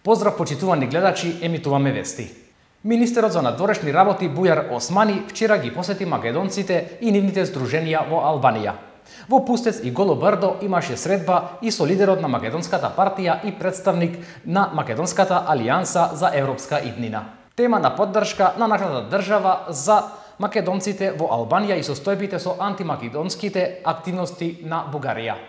Поздрав почитувани гледачи, емитуваме вести. Министерот за надворешни работи Бујар Османи вчера ги посети македонците и нивните здруженија во Албанија. Во Пустец и Голо Брдо имаше средба и со лидерот на Македонската партија и представник на Македонската алијанса за европска иднина. Тема на поддршка на нашата држава за македонците во Албанија и состојбите со антимакедонските активности на Бугарија.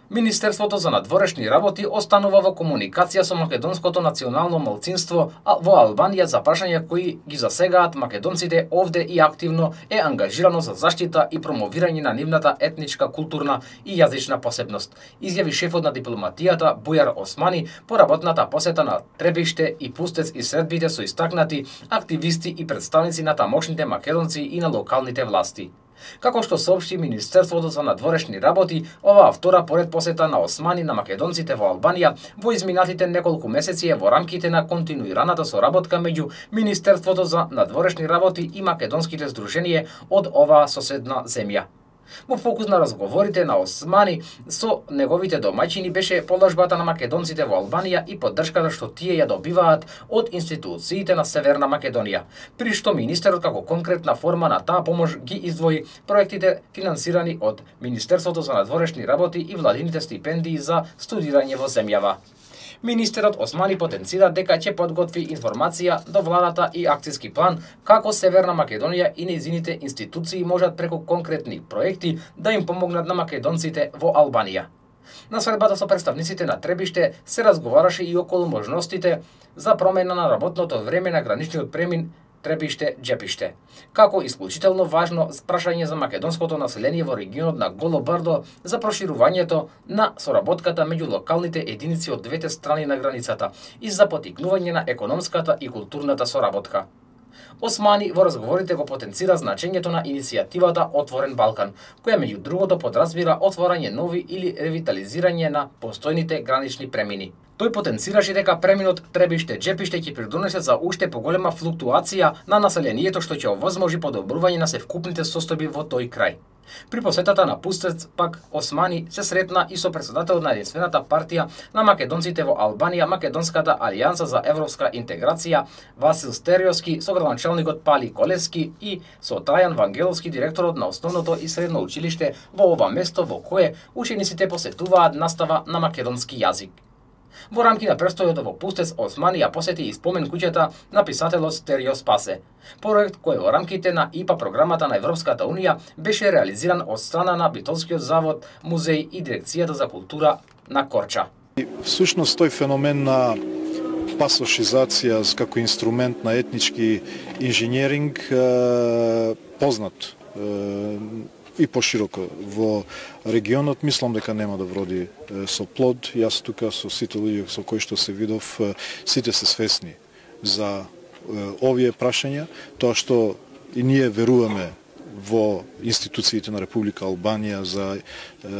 Министерството за надворешни работи останува во комуникација со македонското национално малцинство во Албанија за прашања кои ги засегаат македонците овде и активно е ангажирано за заштита и промовирање на нивната етничка, културна и јазична посебност, изјави шефот на дипломатијата Бујар Османи по работната посета на Требиште и Пустец и средбите со истакнати активисти и представници на тамошните македонци и на локалните власти. Како што соопшти Министерството за надворешни работи, оваа втора поред посета на Османи на македонците во Албанија во изминатите неколку месеци е во рамките на континуираната соработка меѓу Министерството за надворешни работи и македонските здруженија од оваа соседна земја. Во фокус на разговорите на Османи со неговите домаќини беше положбата на македонците во Албанија и поддршката што тие ја добиваат од институциите на Северна Македонија, при што министерот како конкретна форма на таа помош ги издвои проектите финансирани од Министерството за надворешни работи и владините стипендии за студирање во земјава. Министерот Османи потенцира дека ќе подготви информација до владата и акциски план како Северна Македонија и нејзините институции можат преку конкретни проекти да им помогнат на македонците во Албанија. На средбата со представниците на Требиште се разговараше и околу можностите за промена на работното време на граничниот премин Требиште-Џепиште, како исклучително важно прашање за македонското население во регионот на Голо Брдо за проширувањето на соработката меѓу локалните единици од двете страни на границата и за потикнување на економската и културната соработка. Османи во разговорите го потенцира значењето на иницијативата Отворен Балкан, која меѓу другото подразбира отворање нови или ревитализирање на постојните гранични премини. Тој потенцираше дека преминот Требиште-Џепиште ќе придонесе за уште поголема флуктуација на населението што ќе овозможи подобрување на севкупните состојби во тој крај. При посетата на Пустец пак Османи се сретна и со председателот на единствената партија на македонците во Албанија, Македонската алијанса за европска интеграција Васил Стериовски, со градоначалникот Пали Колевски и со Трајан Вангеловски, директорот на основното и средно училиште во ова место во кое учениците посетуваат настава на македонски јазик. Во рамки на престојот во Пустец, Османи ја посети и спомен куќата на писателот Стерио Спасе, проект кој во рамките на ИПА програмата на Европската Унија беше реализиран од страна на Битолскиот завод, музеј и дирекцијата за култура на Корча. Всушност тој феномен на пасошизација како инструмент на етнички инженеринг познат и пошироко во регионот, мислам дека нема да вроди со плод. Јас тука со сите луѓе со кои што се видов, сите се свесни за овие прашања, тоа што и ние веруваме во институциите на Република Албанија за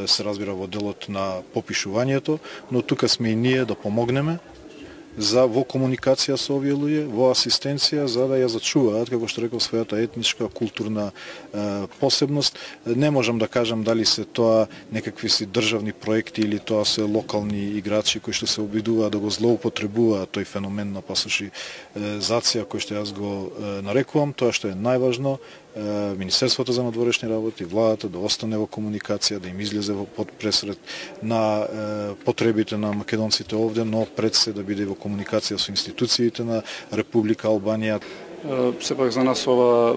се разбира во делот на попишувањето, но тука сме и ние да помогнеме во комуникација со овие луѓе, во асистенција, за да ја зачуваат, како што реков, својата етничка, културна посебност. Не можам да кажам дали се тоа некакви си државни проекти или тоа се локални играчи кои што се обидуваат да го злоупотребуваат тој феномен на пасошизација кој што јас го нарекувам. Тоа што е најважно, Министерството за надворешни работи, владата да остане во комуникација, да им излезе во пресред на потребите на македонците овде, но пред се да биде во комуникација со институциите на Република Албанија. Сепак за нас ова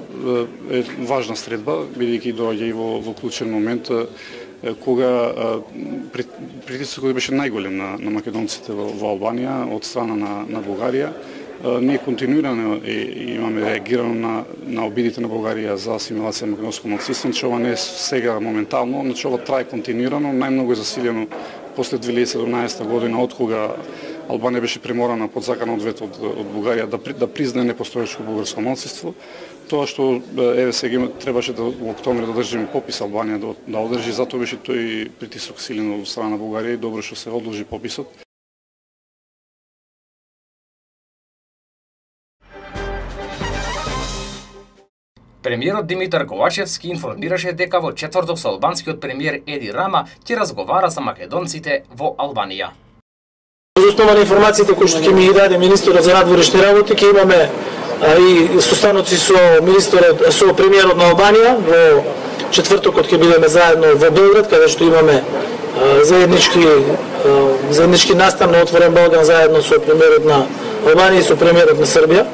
е важна средба, бидејќи доаѓа и во клучен момент кога притисокот беше најголем на македонците во Албанија од страна на Бугарија. Ние континуирано имаме реагирано на обидите на Бугарија за асимилација на македонско малцинство, значи ова не е сега моментално, значи ова трае континуирано, најмногу е засилено после 2017 година, од кога Албанија беше приморана под законот од Бугарија да признае непостоечко бугарско малцинство. Тоа што еве сега требаше во октомври да одржиме попис Албанија да одржи, затоа беше тој притисок силен од страна на Бугарија и добро што се одложи пописот. Премиерот Димитар Ковачевски информираше дека во четврток со албанскиот премиер Еди Рама ќе разговара со македонците во Албанија. Во основа на информациите кои што ќе ми ги даде министерот за надворешни работи, ќе имаме и состаноци со со премиерот на Албанија. Во четвртокот ќе бидеме заедно во Белград, каде што имаме заеднички настан на Отворен Балкан заедно со премиерот на Албанија и со премиерот на Србија.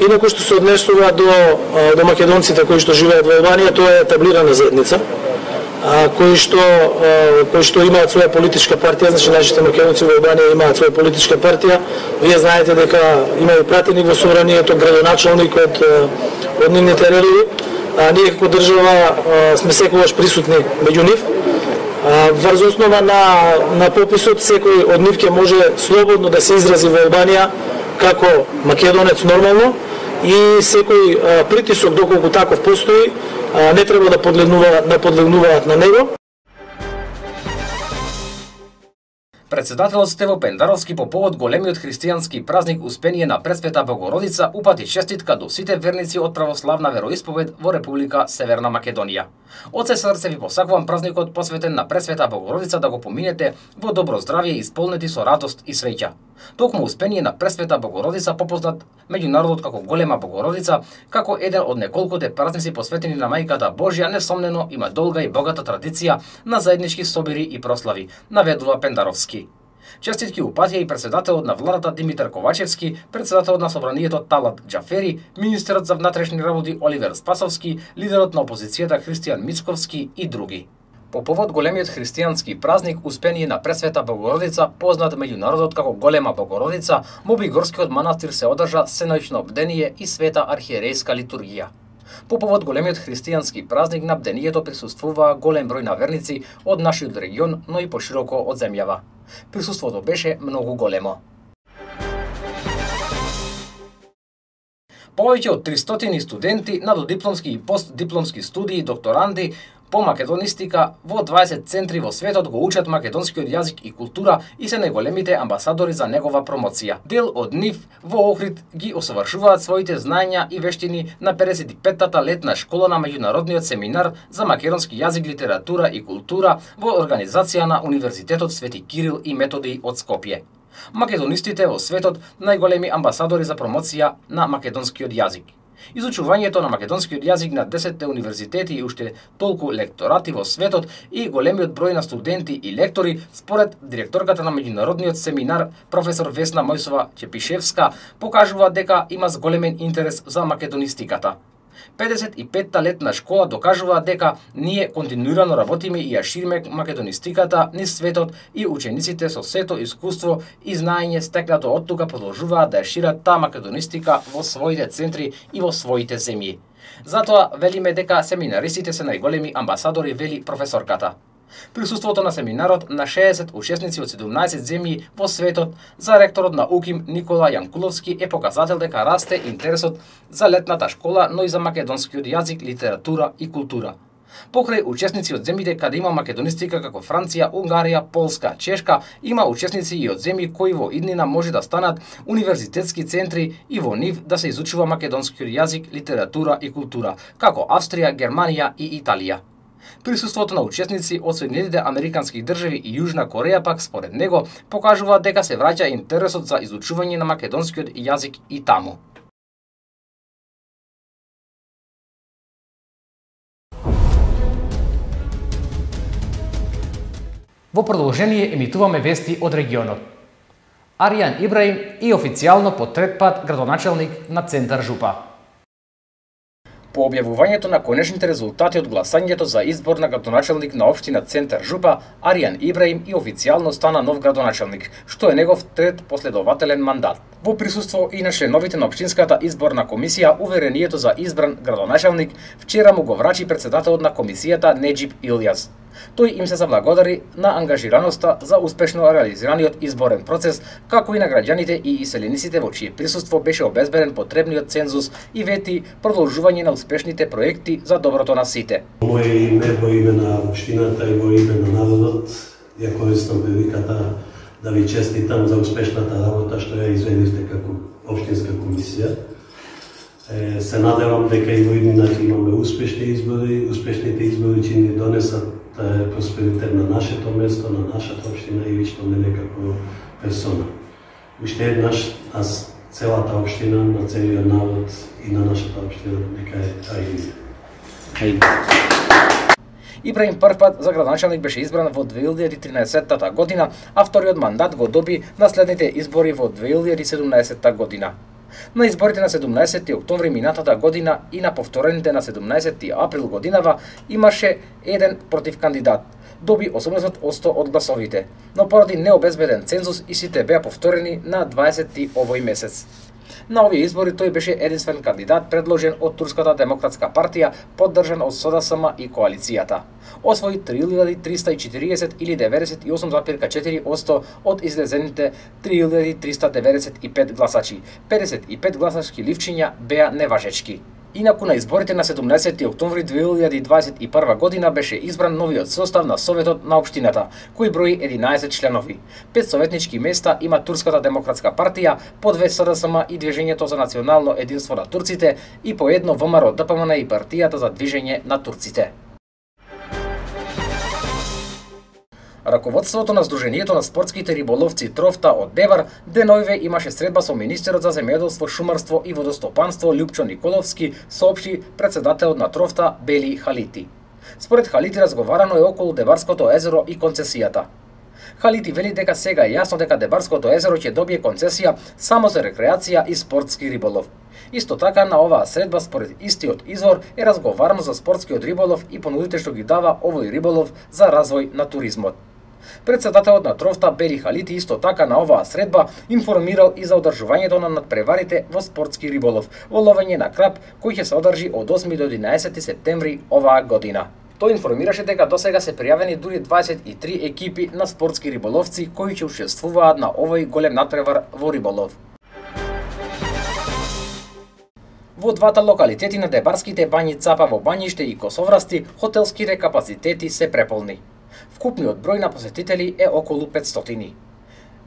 Инаку што се однесува до македонците кои што живеат во Албанија, тоа е етаблирана заедница, кои што имаат своја политичка партија, значи нашите македонци во Албанија имаат своја политичка партија. Вие знаете дека има и пратеник во собранието, градоначалник од нивните редови. Ние како држава сме секогаш присутни меѓу нив. Врз основа на пописот, секој од нив ќе може слободно да се изрази во Албанија како македонец нормално и секој притисок, доколку таков постои, не треба да подлегнуваат на него. Председателот Стево Пендаровски по повод големиот христијански празник Успение на Пресвета Богородица упати честитка до сите верници од православна вероисповед во Република Северна Македонија. Од се срце ви посакувам празникот посветен на Пресвета Богородица да го поминете во добро здравје и исполнети со радост и среќа. Токму Успение на Пресвета Богородица, попознат меѓу народот како Голема Богородица, како еден од неколкуте празници посветени на Мајката Божја, несомнено има долга и богата традиција на заеднички собири и прослави, наведува Пендаровски. Честитки упатија и председателот на владата Димитар Ковачевски, председателот на собранието Талат Џафери, министерот за внатрешни работи Оливер Спасовски, лидерот на опозицијата Христијан Мицковски и други. По повод големиот христијански празник Успение на Пресвета Богородица, познат меѓу народот како Голема Богородица, Мобигорскиот манастир се одржа сеноќно бдение и света архиерејска литургија. По повод големиот христијански празник на бдението присуствува голем број на верници од нашиот регион, но и пошироко од земјава. Присуството беше многу големо. Повеќе од 300 студенти на додипломски и постдипломски студии, докторанди по македонистика во 20 центри во светот го учат македонскиот јазик и култура и се најголемите амбасадори за негова промоција. Дел од нив во Охрид ги осовршуваат своите знаења и вештини на 55-та летна школа на меѓународниот семинар за македонски јазик, литература и култура во организација на Универзитетот Свети Кирил и Методиј од Скопје. Македонистите во светот најголеми амбасадори за промоција на македонскиот јазик. Изучувањето на македонскиот јазик на 10 универзитети и уште толку лекторати во светот и големиот број на студенти и лектори, според директорката на меѓународниот семинар професор Весна Мојсова Чепишевска, покажува дека има зголемен интерес за македонистиката. 55-та летна школа докажува дека ние континуирано работиме и ја шириме македонистиката низ светот и учениците со сето искуство и знаење стекнато од тука продолжуваат да ја шират таа македонистика во своите центри и во своите земји. Затоа велиме дека семинаристите се најголеми амбасадори, вели професорката. Присуството на семинарот на 60 учесници од 17 земји во светот за ректорот на УКИМ Никола Јанкуловски е показател дека расте интересот за летната школа, но и за македонскиот јазик, литература и култура. Покрај учесници од земјите каде има македонистика како Франција, Унгарија, Полска, Чешка, има учесници и од земји кои во иднина може да станат универзитетски центри и во нив да се изучува македонскиот јазик, литература и култура, како Австрија, Германија и Италија. Присуството на учесници од Соединетите Американски држави и Јужна Кореја пак според него покажува дека се враќа интересот за изучување на македонскиот јазик и таму. Во продолжение емитуваме вести од регионот. Аријан Ибраим и официјално по трет пат градоначалник на Центар Жупа. По објавувањето на конечните резултати од гласањето за избор на градоначалник на општина Центар Жупа, Аријан Ибраим и официјално стана нов градоначалник, што е негов трет последователен мандат. Во присуство и на членовите на општинската изборна комисија, уверението за избран градоначалник вчера му го врачи председателот на комисијата Неџип Илјаз. Тој им се заблагодари на ангажираноста за успешно реализираниот изборен процес, како и на граѓаните и иселениците во чие присуство беше обезбеден потребниот цензус и вети продолжување на успешните проекти за доброто на сите. Моје име, во име на општината и во име на народот, ја користам приликата да ви честитам за успешната работа што ја изведивте како општинска комисија. Се надевам дека и во иднината имаме успешни избори. Успешните избори ќе ни донесат просперитет на нашето место, на нашата општина и лично мене како персона. уште еднаш целата општина, на целиот народ и на нашата општина нека е ајде. Ибраим прв пат за градоначалник беше избран во 2013 година, а вториот мандат го доби на следните избори во 2017 година. На изборите на 17 октомври минатата година и на повторените на 17 април годинава имаше еден против кандидат. Доби 80% од гласовите, но поради необезбеден цензус истите беа повторени на 20 овој месец. На овие избори тој беше единствен кандидат предложен од Турската демократска партија, поддржан од СДСМ и коалицијата. Освои 3340 или 98,4% од излезените 3395 гласачи. 55 гласачки ливчиња беа неважечки. Инаку на изборите на 17 октомври 2021 година беше избран новиот состав на Советот на општината, кој брои 11 членови. 5 советнички места има Турската демократска партија, по 2 СДСМ и Движењето за национално единство на турците и по едно ВМРО ДПМН и партијата за движење на турците. Раководството на Сдруженијето на спортските риболовци Трофта од Дебар деноиве имаше средба со министерот за земјоделство, шумарство и водостопанство Љупчо Николовски, соопшти председателот на Трофта Бели Халити. Според Халити разговарано е околу Дебарското езеро и концесијата. Халити вели дека сега е јасно дека Дебарското езеро ќе добие концесија само за рекреација и спортски риболов. Исто така на оваа средба според истиот извор е разговарано за спортскиот риболов и понудите што ги дава овој риболов за развој на туризмот. Председателот на Трофта Бели Халити исто така на оваа средба информирал и за одржувањето на надпреварите во спортски риболов во ловење на краб кој ќе се одржи од 8 до 11 септември оваа година. Тој информираше дека досега се пријавени дури 23 екипи на спортски риболовци кои ќе учествуваат на овој голем надпревар во риболов. Во двата локалитети на Дебарските бањи Цапа во Бањиште и Косоврасти хотелските капацитети се преполни. Вкупниот број на посетители е околу 500.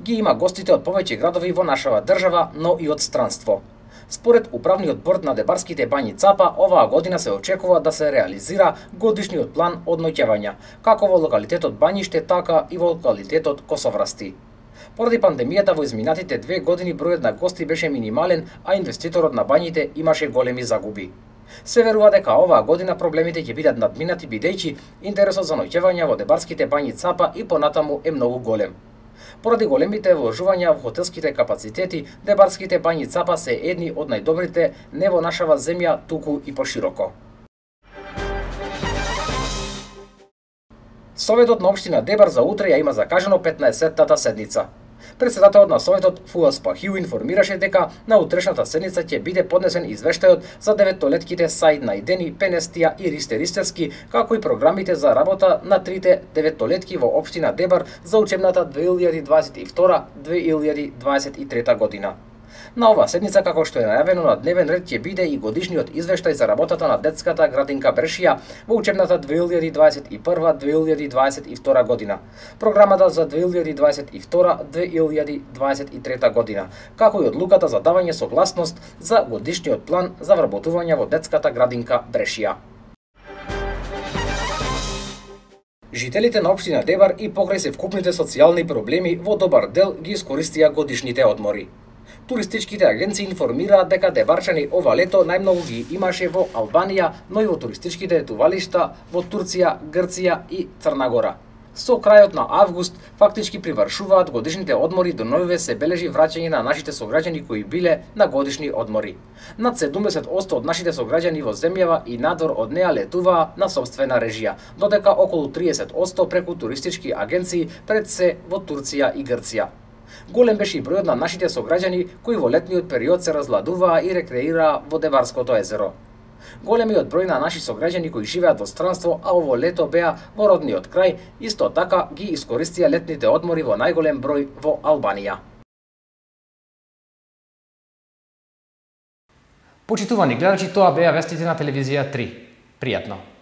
Ги има гостите од повеќе градови во нашава држава, но и од странство. Според управниот борд на Дебарските бањи Цапа, оваа година се очекува да се реализира годишниот план од ноќевања, како во локалитетот Бањиште, така и во локалитетот Косоврасти. Поради пандемијата во изминатите 2 години бројот на гости беше минимален, а инвеститорот на бањите имаше големи загуби. Се верува дека оваа година проблемите ќе бидат надминати бидејќи интересот за ноќевања во Дебарските бањи Цапа и понатаму е многу голем. Поради големите вложувања во хотелските капацитети, Дебарските бањи Цапа се едни од најдобрите не во нашава земја, туку и пошироко. Советот на општина Дебар за утре ја има закажано 15-тата седница. Председателот на Советот Фуас Пахиу информираше дека на утрешната седница ќе биде поднесен извештајот за 9-толетките Саид Најдени, Пенестија и Ристе Ристевски, како и програмите за работа на трите 9-толетки во општина Дебар за учебната 2022-2023 година. На оваа седница, како што е најавено на дневен ред, ќе биде и годишниот извештај за работата на детската градинка Брешија во учебната 2021-2022 година, програмата за 2022-2023 година, како и одлуката за давање согласност за годишниот план за вработување во детската градинка Брешија. Жителите на општина Дебар и покрај се вкупните социјални проблеми во добар дел ги искористија годишните одмори. Туристичките агенции информираат дека дебарчани ова лето најмногу ги имаше во Албанија, но и во туристичките етувалишта во Турција, Грција и Црна Гора. Со крајот на август фактички привршуваат годишните одмори, до новиве се бележи враќање на нашите сограѓани кои биле на годишни одмори. Над 70% од нашите сограѓани во земјава и надвор од неа летуваа на сопствена режија, додека околу 30% преку туристички агенции, пред се во Турција и Грција. Голем беше и бројот на нашите сограѓани кои во летниот период се разладуваа и рекреираа во Дебарското езеро. Големиот број на наши сограѓани кои живеат во странство, а ово лето беа во родниот крај, исто така ги искористија летните одмори во најголем број во Албанија. Почитувани гледачи, тоа беа вестите на телевизија 3. Пријатно!